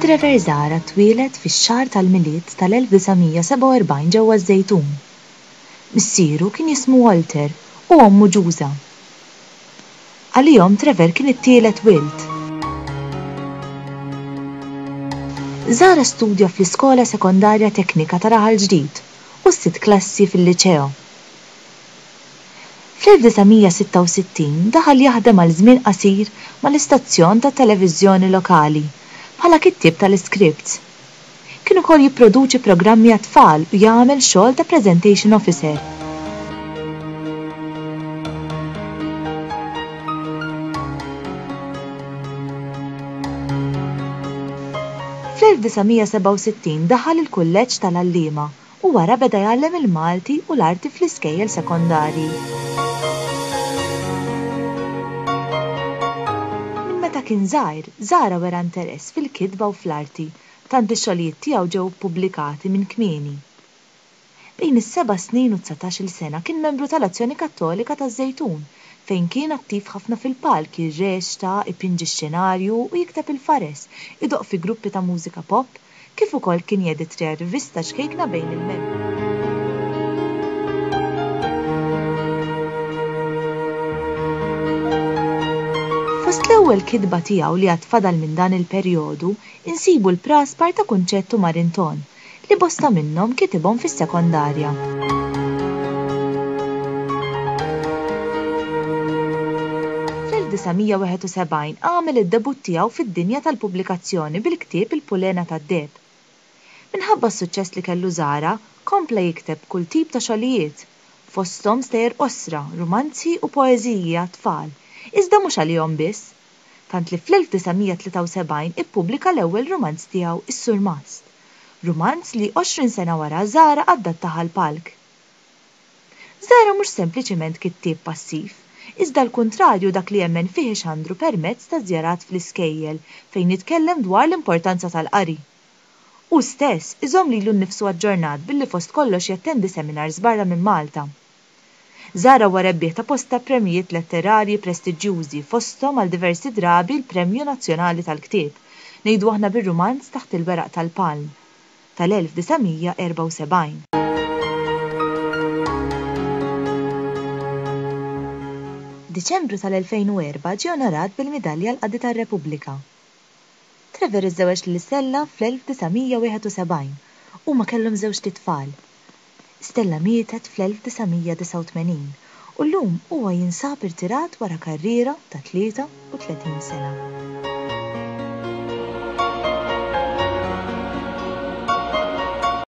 Trevor Zahra twieled fix-xahar tal-Milied tal-1947 ġewwa ż-Żejtun. Missieru kien jismu Walter u ommu Ġuża. Għalihom Trevor kien it-tielet wild. Zahra studja fl-Iskola Sekondarja Teknika ta' Raħal Ġdid u s-sitt klassi fil-Liċeo. Fl-1966 daħal jaħdem għal żmien qasir mal-istazzjon tat-televiżjoni lokali bħala kittieb tal-iskripts. Kien ukoll jipproduċi programmi għat-tfal u jagħmel xogħol ta' presentation officer. Fl-1967 daħal il-Kulleġġ tal-Għalliema u wara beda jgħallem il-Malti u l-Arti fl-iskejjel sekondarji. Minn meta kien żgħir, Zahra wera interess fil-kitba u fl-arti, tant li x-xogħlijiet tiegħu ġew ippubblikati minn kmieni. Bejn is-seba' snin u d-dsatax-il sena kien membru tal-Azzjoni Kattolika taż-Żejtun, fejn kien attiv ħafna fil-palk jirreċta, ipinġi x-xenarju u jikteb il-fares, idoqq fi gruppi ta' mużika pop, kif ukoll kien jeditria rivista ċkejkna bejn il-membri. Fost l-ewwel kitba tiegħu li għad fadal minn dan il-perjodu insibu l-Praspar ta' Kunċett u Marinton, li bosta minnhom kitibhom fis-sekondarja. Fl-1971 għamel id-debutt tiegħu fid-dinja tal-pubblikazzjoni bil-ktieb Il-Pulena tad-Deheb. Minħabba s-suċċess li kellu Zahra, kompla jikteb kull tip ta' xogħlijiet, fosthom stejjer qosra, rumanzi u poeżiji għat-tfal, iżda mhux għalihom biss, tant li fl-1973 ippubblika l-ewwel rumanz tiegħu Is-Surmast, rumanz li 20 sena wara Zahra adattah għall-palk. Zahra mhux sempliċiment kittieb passiv, iżda l-kuntrarju dak li jemmen fih ixandru permezz ta' żjarat fl-iskejjel fejn jitkellem dwar l-importanza tal-qari. Hu stess iżomm lilu nnifsu aġġornat billi fost kollox jattendi seminars barra minn Malta. Zahra huwa rebbieħ ta' bosta premjijiet letterarji prestiġjużi fosthom għal diversi drabi l-Premju Nazzjonali tal-Ktieb, ngħidu aħna bir-rumanz Taħt il-Weraq tal-Palm, tal-1974. F'Diċembru tal-2004 ġie onorat bil-Midalja għall-Qadi tar-Repubblika. Trevor iżżewweġ lil Stella fl-1971. Huma kellhom żewġt itfal. Stella mietet fl-1989 u llum huwa jinsab irtirat wara karriera ta' 33 sena.